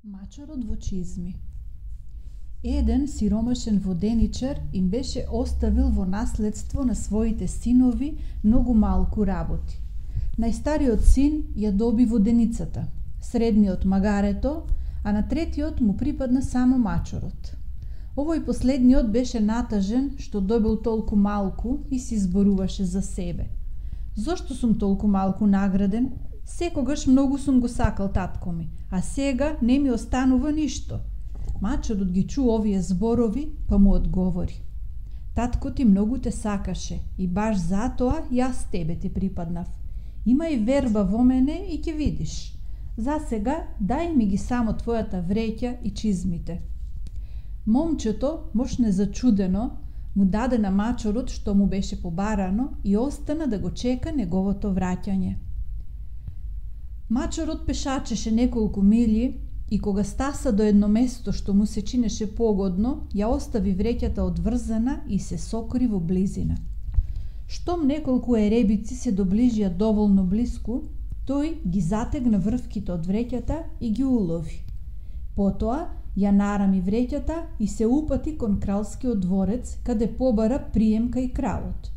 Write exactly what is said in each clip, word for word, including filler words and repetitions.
Мачорот во чизми. Еден сиромашен воденичар им беше оставил во наследство на своите синови многу малку работи. Најстариот син ја доби воденицата, средниот магарето, а на третиот му припадна само мачорот. Овој последниот беше натажен што добил толку малку и си зборуваше за себе. Зошто сум толку малку награден? Секогаш многу сум го сакал татко ми, а сега не ми останува ништо. Мачорот ги чу овие зборови, па му одговори: татко ти многу те сакаше и баш затоа јас тебе ти припаднав. Имај верба во мене и ќе видиш. За сега дај ми ги само твојата вреќа и чизмите. Момчето, мош незачудено, му даде на мачорот што му беше побарано и остана да го чека неговото враќање. Мачорот пешачеше неколку милји и кога стаса до едно место што му се чинеше погодно, ја остави вреќата одврзана и се сокри во близина. Штом неколку еребици се доближија доволно блиску, тој ги затегна врвките од вреќата и ги улови. Потоа ја нарами вреќата и се упати кон кралскиот дворец, каде побара прием кај кралот.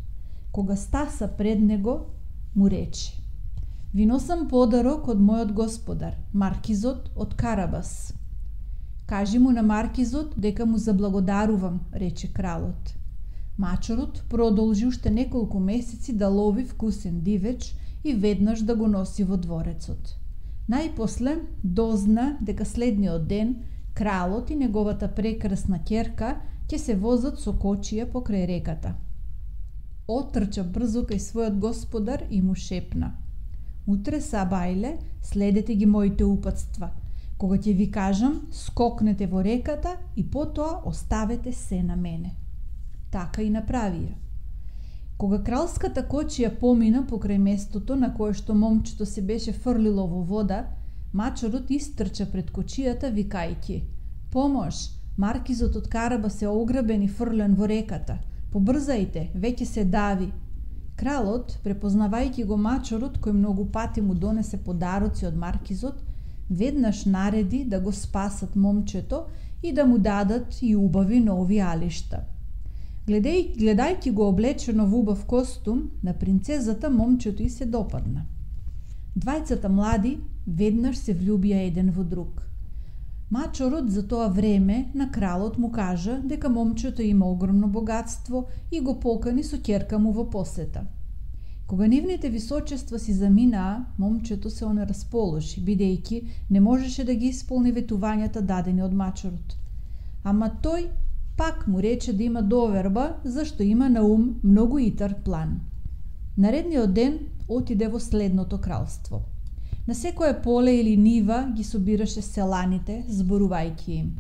Кога стаса пред него, му рече: ви носам подарок од мојот господар, маркизот од Карабас. Кажи му на маркизот дека му заблагодарувам, рече кралот. Мачорот продолжи уште неколку месеци да лови вкусен дивеч и веднаш да го носи во дворецот. Најпосле дозна дека следниот ден кралот и неговата прекрасна ќерка ќе се возат со кочија покрај реката. Отрча брзо кај својот господар и му шепна: утре сабајле следете ги моите упатства. Кога ќе ви кажам, скокнете во реката и потоа оставете се на мене. Така и направија. Кога кралската кочија помина покрај местото на кое што момчето се беше фрлило во вода, мачорот истрча пред кочијата викајќи: помош, маркизот од Караба се ограбен и фрлен во реката. Побрзајте, веќе се дави. Кралот, препознавајќи го мачорот кој многу пати му донесе подароци од маркизот, веднаш нареди да го спасат момчето и да му дадат и убави нови алишта. Гледај, гледајќи го облечено во убав костум, на принцезата момчето и се допадна. Двајцата млади веднаш се влюбија еден во друг. Мачорот за тоа време на кралот му кажа дека момчето има огромно богатство и го покани со ќерка му во посета. Кога нивните височества си заминаа, момчето се онерасположи, бидејќи не можеше да ги исполни ветувањата дадени од мачорот. Ама тој пак му рече да има доверба, зашто има на ум многу итар план. Наредниот ден отиде во следното кралство. На секое поле или нива ги собираше селаните, зборувајќи им: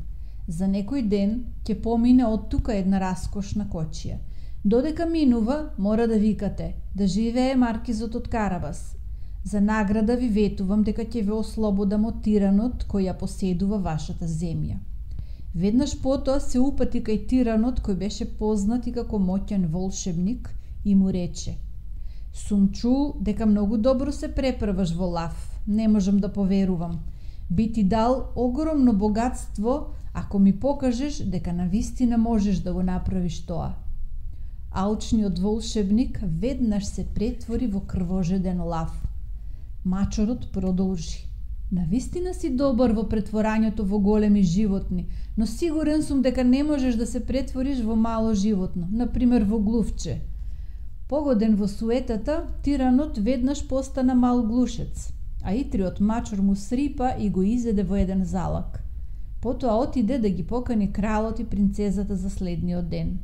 за некој ден ќе помине од тука една раскошна кочија. Додека минува, мора да викате: да живее маркизот од Карабас. За награда ви ветувам дека ќе ве ослободам од тиранот кој ја поседува вашата земја. Веднаш потоа се упати кај тиранот кој беше познат и како моќен волшебник и му рече: сум чул дека многу добро се преправаш во лав. Не можам да поверувам. Би ти дал огромно богатство ако ми покажеш дека навистина можеш да го направиш тоа. Алчниот волшебник веднаш се претвори во крвожеден лав. Мачорот продолжи: навистина си добар во претворањето во големи животни, но сигурен сум дека не можеш да се претвориш во мало животно, например во глувче. Погоден во суетата, тиранот веднаш постана мал глушец, а итриот мачор му срипа и го изеде во еден залак. Потоа отиде да ги покани кралот и принцезата за следниот ден.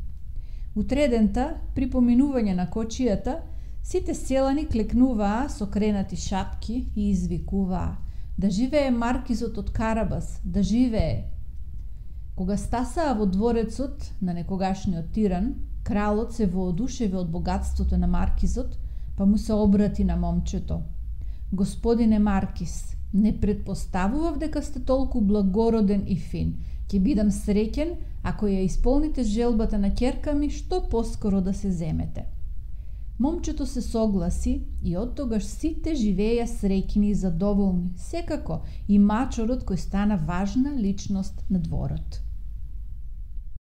Утредента, при поминување на кочијата, сите селани клекнуваа со кренати шапки и извикуваа: да живее маркизот од Карабас, да живее! Кога стасаа во дворецот на некогашниот тиран, кралот се воодушеви од богатството на маркизот, па му се обрати на момчето: господине маркиз, не предпоставував дека сте толку благороден и фин. Ќе бидам среќен ако ја исполните желбата на ќерка ми што поскоро да се земете. Момчето се согласи и оттогаш сите живееја среќни и задоволни, секако и мачорот кој стана важна личност на дворот.